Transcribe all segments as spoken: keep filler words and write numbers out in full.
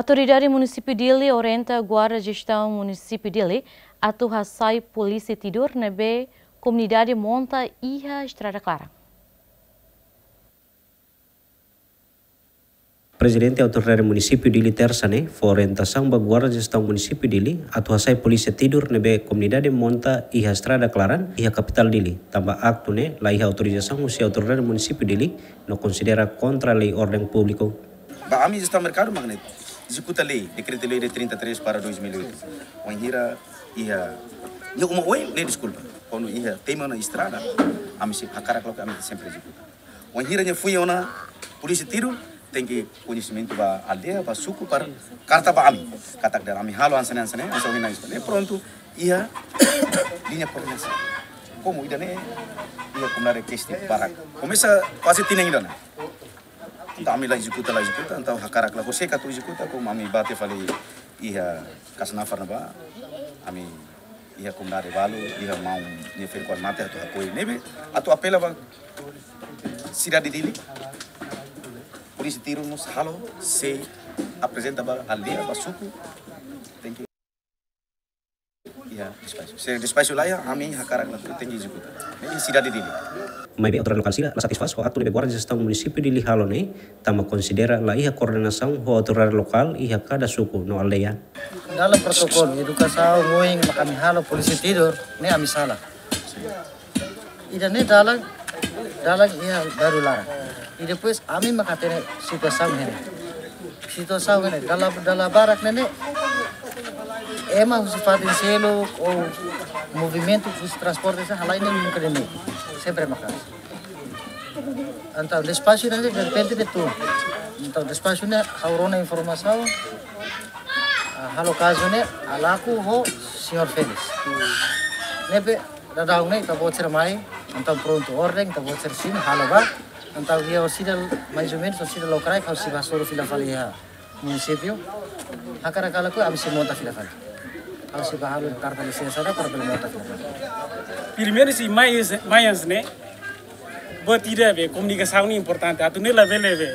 Autoridade Munisípiu Dili orienta Guarda Jestaun Munisípiu Dili atu hasai polísia tidur ne'ebé komunidade monta iha estrada klaran. Prezidente Autoridade Munisípiu Dili Tersa ne'e fó orientasaun ba Guarda Jestaun Munisípiu Dili atu hasai polísia tidur ne'ebé komunidade monta iha estrada klaran iha kapitál Dili, tanba aktu ne'e la iha autorizasaun husi Autoridade Munisípiu Dili, no konsidera kontra lei orden públiku. Ba ami jestaun merkadu mak ne'e, ezekuta lei, dekretu lei de trinta e três para dois mil e oito. Wainhira iha, iha uma oin ne'e, deskulpa. Kuandu iha tema ona estrada, ami sei hakarak loke, ami sempre ezekuta. Wainhira nia foin ona polísia tidur, tenke koñesimentu ba aldeia, ba suku, para karta ba ami. Katak dehan ami halo hanesan ne'e, hanesan ne'e, hanesan ne'e, hanesan ne'e. Prontu, iha liña koordenasaun. Komu ida-ne'e, iha komunidade kestiona barak. Komesa kuaze tinan ida-ne'e. Entaun ami la ezekuta, la ezekuta, entaun hakarak la konsege atu ezekuta, komu ami bá tiha fali iha Kasnafar ne'ebá, ami iha komunidade balu, iha maun nia ferik-oan mate atu hakoi. Ne'ebé atu apela ba sidade Dili, polísia tidur mós halo, sei aprezenta ba aldeia, ba suku, tenke iha despaxu. Se despaxu la iha, ami hakarak la tenke ezekuta. Ne'e iha sidade Dili. Maibé autoridade lokál sira la satisfás ho aktu ne'ebé Guarda Jestaun Munisípiu Dili halo ne'e, tanba konsidera la iha koordenasaun ho autoridade lokál iha kada suku no aldeia. Dalam protokolu edukasaun oin mak ami halo polísia tidur, ne'e ami sala. Ida-ne'e dalan, dalan iha bairru laran. I depois ami mak hatene situasaun ne'e. Situasaun ne'e, dala, dala barak ne'e, ema husi fatin seluk ou movimentu husi transporte sira halai ne'e nunka ne'e. Sempre maka'as. Entaun despaxu ne'e derrepente de'it. Entaun despaxu ne'e ha'u rona informasaun, ah, halo kazu ne'e Alaku ho señór Félix. Ne'ebé daudaun ne'e ita-boot sira mai, entaun prontu orden, ita-boot sira simu, halo ba. Entaun iha orsida, mais ou menus, orsida lokraik, ha'u sei bá hasoru fila fali iha munisípiu. Hakarak halo kuandu ami sei monta fila fali. Ha'u sei bá halo karta lisensa ida para bele monta fila fali. Primeiru sei mai, mai hanesan ne'e, buat ida be komunikasaun ne'e importante. Atu ne'e labele be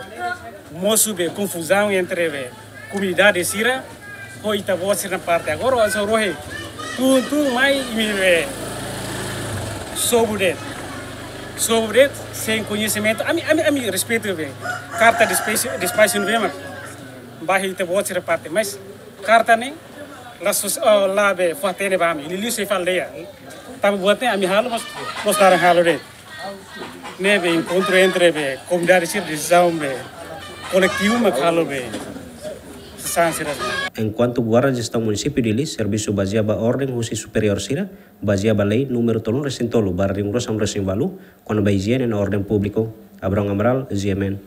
mosu be konfuzaun entre be komunidade sira ho ita-boot sira-nia parte. Agora, ohin só rohe, tun-tun mai imi be sobu de'it. Sobu de'it, sein koñesimentu. Ami, ami, ami respeitu be karta despaxu, despaxu ne'ebé mak ba iha ita-boot sira-nia parte. Mas karta ne'e la sos-, oh, la be fó hatene ba ami. Liuliu sei fali de'it. Tanba buat ne'e ami halo, mas, mas laran halo de'it. Ne'ebé enkontru entre be komunidade sira, desizaun be koletivu mak halo be sasán sira. Enkuantu Guarda Jestaun Munisípiu Dili servisu bazeia ba orden husi superiór sira, bazeia ba lei númeru tolunulu-resin-tolu barra ringrosam-resin-ualu, kona-ba ijiene no orden públiku. Abrão Amaral, G M N.